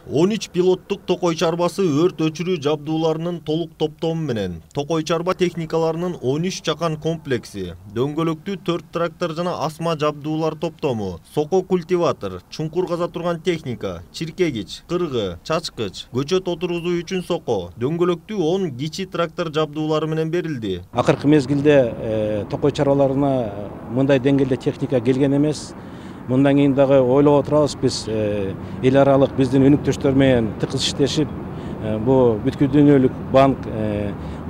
13 пилоттук токой чарбасы өрт өчүрүү жабдууларынын толук топтому менен токой чарба техникаларынын 13 чакан комплекси, дөңгөлөктүү 4 трактор жана асма жабдуулар топтому, соко культиватор, чуңкур каза турган техника, чиркегич, кыргы, чачкыч, көчөт отургузуу үчүн соко, дөңгөлөктүү 10 кичи трактор жабдуулары менен берилди. Акыркы мезгилде токой чарбаларына мындай деңгээлде техника келген эмес. Мындан кийин дагы ойлоп отурабыз биз эл аралык биздин өнүктүштөр менен тыкыз иштешип, бу бүткүл дүйнөлүк банк,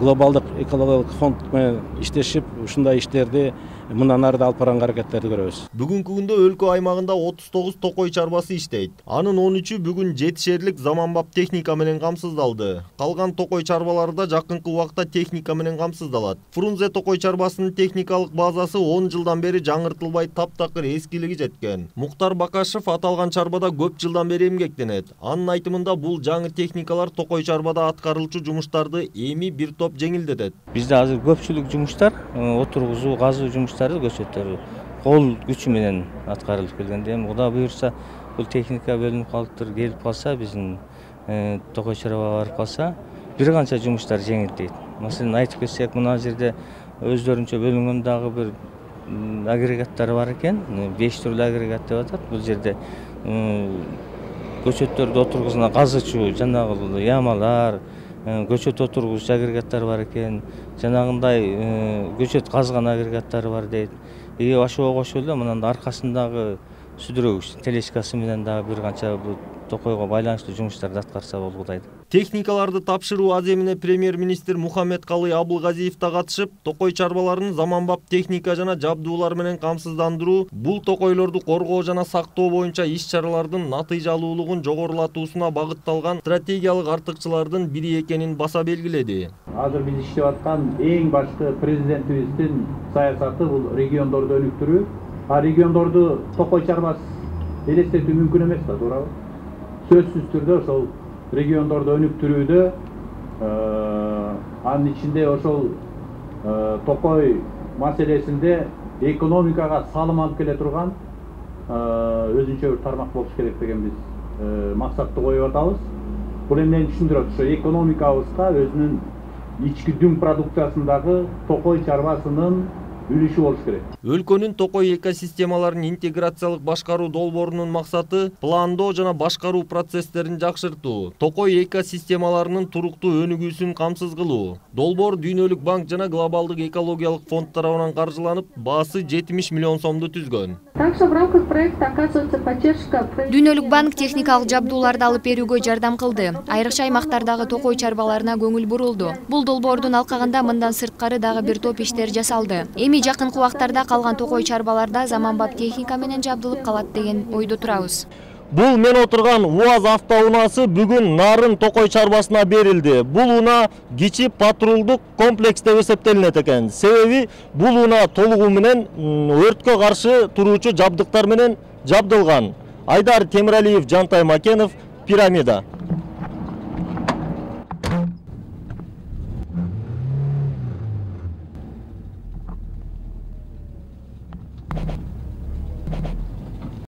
глобалдык экологиялык фонд менен иштешип, ушундай иштерди мындан ары да алып барганга аракеттерди көрөбүз. Бүгүнкү күндө өлкө аймагында 39 токой чарбасы иштейт. Анын 13-ү бүгүн жетишерлик заманбап техника менен камсыздалды. Калган токой чарбалары да жакынкы убакта техника менен камсыздалат. Фрунзе токой чарбасынын техникалык базасы 10 жылдан бери жаңыртылбай таптакыр эскилиги жеткен. Муктар Бакашев аталган чарбада көп жылдан бери эмгектенет. Анын айтымында бул жаңы техникалар токой чарбада аткарылчу жумуштарды эми бир топ жеңилдетет. Бизде азыр көпчүлүк жумуштар, отургузуу, казуу жумуштары көчөттөрү кол күчү менен аткарылып келгенде, эми Кудай буйрса бул техника бөлүнүп калыптыр, келип калса, биздин токой чарбага барып калса, бир канча жумуштар жеңилдейт. Маселен, айтып кетсек, мына жерде өздөрүнчө бөлүнгөн дагы бир агрегаттар бар экен, 5 түрлүү агрегат деп атат. Бул жерде көчөттөрдү отургузган казычу, жанагы ямалар, көчөт отургуч агрегаттар бар экен, жанагындай көчөт казган агрегаттары бар дейт. Ошого кошулуп эле мындан аркасындагы сүдүрөгүч тележкасы менен дагы бир канча бул токойго байланыштуу жумуштарды аткарса болгудай. Техникаларды тапшыруу аземине премьер-министр Мухаммедкалый Абылгазиев да катышып, токой чарбаларын заманбап техника жана жабдуулар менен камсыздандыруу бул токойлорду коргоо жана сактоо боюнча иш-чаралардын натыйжалуулугун жогорулатуусуна багытталган стратегиялык артыкчылардын бири экенин баса белгиледи. Азыр биз иштеп аткан эң башкы президентибиздин саясаты бул региондорду өнүктүрүү. Региондорду токой чарбасы элестетүү мүмкүн эмес да, туурабы? Сөзсүз түрдө ошол региондорду өнүктүрүүдө анын ичинде ошол токой маселесинде экономикага салым алып келе турган өзүнчө бир тармак болуш керек деген биз максатты коюп атабыз. Бул эмнени түшүндүрөт? Ошо экономикабызга өзүнүн ички дүң продукциясындагы токой чарбасынын үлүшү болуш керек. Өлкөнүн токой экосистемаларын интеграциялык башкаруу долбоорунун максаты пландоо жана башкаруу процесстерин жакшыртуу, токой экосистемаларынын туруктуу өнүгүүсүн камсыз кылуу. Долбоор Дүйнөлүк банк жана глобалдык экологиялык фонд тарабынан каржыланып, баасы 70 миллион сомду түзгөн. Также в рамках проекта оказывается поддержка. Дүйнөлүк банк техникалык жабдууларды алып берүүгө жардам кылды. Айрыкча аймактардагы токой чарбаларына көңүл бурулду. Бул долбоордун алкагында мындан сырткары дагы бир топ иштер жасалды. Эми жакынкы убактарда калган токой чарбаларда заманбап техника менен жабдылып калат деген ойдо турабыз. Бул мен отурган УАЗ автоунаасы бүгүн Нарын токой чарбасына берилди. Бул унаа кичи патрулдук комплекс деп эсептелинет экен. Себеби бул унаа толугу менен өрткө каршы туруучу жабдыктар менен жабдылган. Айдар Темиралиев, Жантай Макенов, Пирамида.